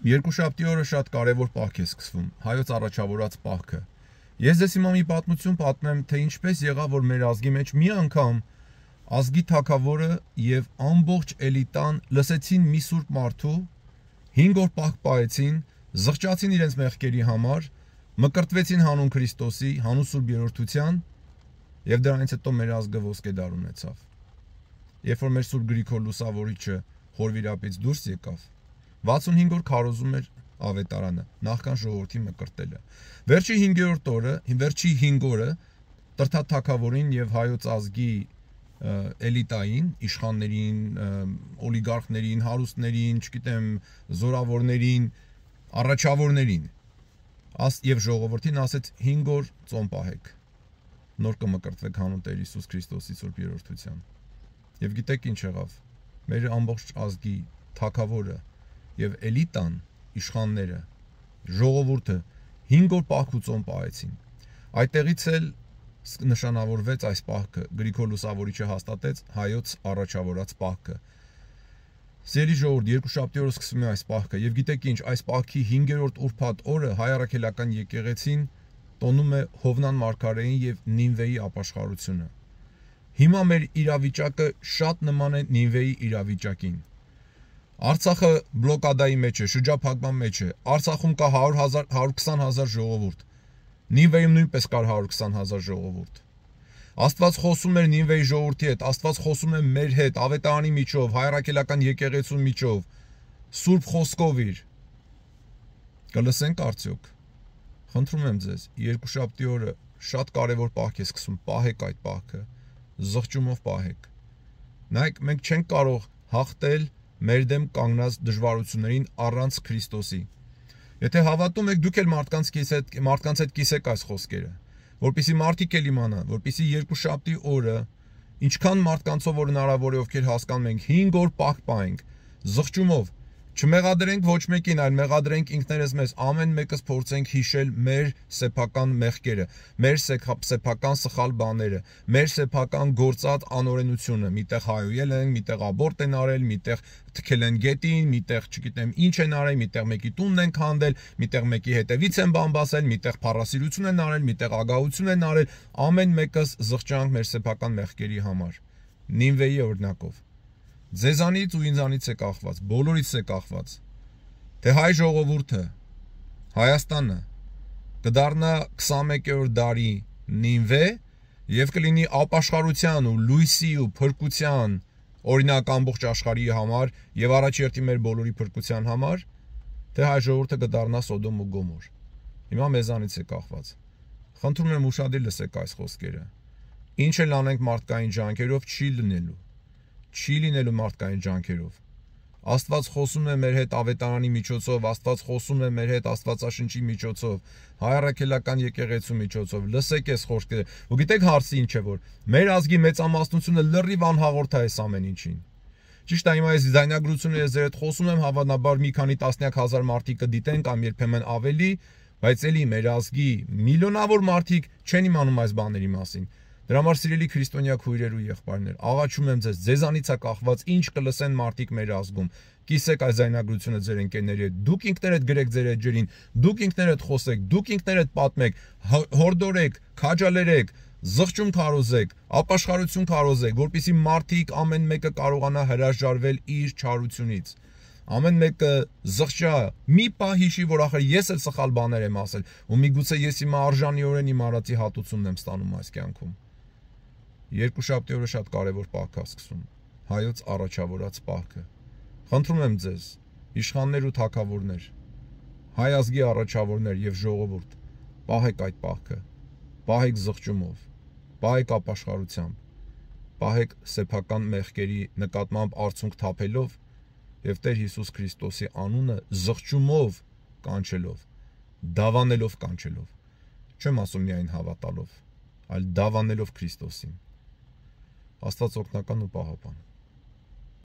Երկուշաբթի օրը շատ կարևոր պահք է սկսվում, հայոց առաջավորած պահքը։ Ես ձեզ հիմա մի պատմություն պատմեմ, թե ինչպես եղավ, որ մեր ազգի մեջ մի անգամ ազգի թագավորը եւ ամբողջ էլիտան լսեցին մի սուրբ մարդու, 5 օր պահք պահեցին, զղջացին իրենց մեղքերի համար, մկրտվեցին հանուն Քրիստոսի, հանուն Սուրբ Երրորդության, եւ դրանից հետո մեր ազգը ոսկե դար ունեցավ։ Երբ որ մեր Սուրբ Գրիգոր Լուսավորիչը Խորվիրապից դուրս եկավ, 65 օր քարոզում էր ավետարանը, նախքան ժողովրդի մկրտելը։ Վերջի 5-րդ օրը, վերջի 5 օրը Տրթատ թագավորին եւ հայոց ազգի էլիտային, իշխաններին, օլիգարխներին, հարուստներին, չգիտեմ, զորավորներին, առաջավորներին եւ ժողովրդին ասեց 5 օր ծոմ պահեք, նոր կմկրտվեք հանուն Տեր Հիսուս Քրիստոսի Սուրբ Երրորդության։ Եվ գիտեք ինչ եղավ, մեր ամբողջ ազգի թագավորը եւ էլիտան, իշխանները, ժողովուրդը 5 օր պահք ու ծոմ պահեցին։ Այդտեղից էլ նշանավորվեց այս պահքը, Գրիգոր Լուսավորիչը հաստատեց հայոց առաջավորած պահքը։ Սիրելի ժողովուրդ, երկուշաբթի օրը սկսվում է այս պահքը, եւ գիտեք ինչ, այս պահքի 5-րդ ուրբաթ օրը հայ առաքելական եկեղեցին տոնում է Հովնան մարգարեին եւ Նինվեի ապաշխարությունը։ Հիմա մեր իրավիճակը շատ նման է Նինվեի իրավիճակին։ Արցախը բլոկադայի մեջ է, շրջափակման մեջ է։ Արցախում կա 120,000 ժողովուրդ։ Նինվեյում նույնպես կար 120,000 ժողովուրդ։ Աստված խոսում էր Նինվեի ժողովրդի հետ, Աստված խոսում է մեր հետ, ավետարանի միջով, հայ առաքելական եկեղեցու միջով, սուրբ խոսքով իր։ Կլսենք արդյոք։ Խնդրում եմ ձեզ, երկուշաբթի օրը շատ կարևոր պահք է սկսում, պահեք այդ պահքը, զղջումով պահեք։ Նայեք, մենք չենք կարող հաղթել մեր դեմ կանգնած դժվարություններին առանց Քրիստոսի։ Եթե հավատում եք, դուք էլ մարդկանց հետ կիսեք այս խոսքերը, որպեսզի մարդիկ էլ իմանան, որպեսզի երկուշաբթի օրը ինչքան մարդկանցով որ հնարավոր է ովքեր հասկանում ենք 5 օր պահք պահենք, զղջումով, չմեղադրենք ոչ մեկին, այլ մեղադրենք ինքներս մեզ, ամեն մեկս փորձենք հիշել մեր սեփական մեղքերը, մեր սեփական սխալ բաները, մեր սեփական գործած անօրենությունը, միտեղ հայոյել են, միտեղ աբորտ են արել, միտեղ թքել են գետին, միտեղ չգիտեմ ինչ են արել, միտեղ մեկի տունն են քանդել, միտեղ մեկի հետևից են բամբասել, միտեղ փառասիրություն են արել, միտեղ ագահություն են արել, ամեն մեկս զղջանք մեր սեփական մեղքերի համար։ Նինվեի օրինակով ձեզանից ու ինձանից է կախված, բոլորից է կախված, թե հայ ժողովուրդը, Հայաստանը կդառնա 21-րդ դարի Նինվե եւ կլինի ապաշխարության ու լույսի ու փրկության օրինակ ամբողջ աշխարհի համար եւ առաջերտի մեր բոլորի փրկության համար, թե հայ ժողովուրդը կդառնա Սոդոմ ու Գոմոր։ Հիմա մեզանից է կախված։ Խնդրում եմ ուշադիր լսեք այս խոսքերը։ Ինչ էլ անենք մարդկային ջանքերով չի լինելու մարդկային ջանքերով։ Աստված խոսում է մեր հետ ավետարանի միջոցով, Աստված խոսում է մեր հետ Աստվածաշնչի միջոցով, հայ առաքելական եկեղեցու միջոցով։ Լսեք այս խոսքերը։ Ու գիտեք հարցը ինչ է, որ մեր ազգի մեծամասնությունը լրիվ անհաղորդ է այս ամեն ինչին։ Ճիշտ է, հիմա ես ձայնագրությունը ես ձեր հետ խոսում եմ, հավանաբար մի քանի տասնյակ հազար մարդիկ կդիտեն կամ երբեմն ավելի, բայց էլի մեր ազգի միլիոնավոր մարդիկ չեն իմանում այս բաների մասին։ Դրա համար սիրելի քրիստոնյա քույրեր ու եղբայրներ, աղաչում եմ ձեզ, ձեզանից է կախված ինչ կլսեն մարդիկ մեր ազգում։ Կիսեք այս ձայնագրությունը ձեր ընկերների հետ, դուք ինքներդ գրեք ձեր էջերին, դուք ինքներդ խոսեք, դուք ինքներդ պատմեք, հորդորեք, քաջալերեք, զղջում քարոզեք, ապաշխարություն քարոզեք, որպեսզի մարդիկ ամեն մեկը կարողանա հրաժարվել իր չարությունից։ Ամեն մեկը զղջա, մի պահ հիշի, որ ախր ես էլ սխալ բաներ եմ ասել, ու միգուցե ես հիմա արժանիորեն իմ արածի հատուցումն եմ ստանում այս կյանքում։ Երկուշաբթի օրը շատ կարևոր պահք է սկսում, հայոց առաջավորած պահքը։ Խնդրում եմ ձեզ, իշխաններ ու թագավորներ, հայ ազգի առաջավորներ եւ ժողովուրդ, պահեք այդ պահքը, պահեք զղջումով, պահեք ապաշխարությամբ, պահեք սեփական մեղքերի նկատմամբ արցունք թափելով եւ Տեր Հիսուս Քրիստոսի անունը զղջումով կանչելով, դավանելով կանչելով, չեմ ասում միայն հավատալով, այլ դավանելով Քրիստոսին։ Աստված օգնական ու պահապան։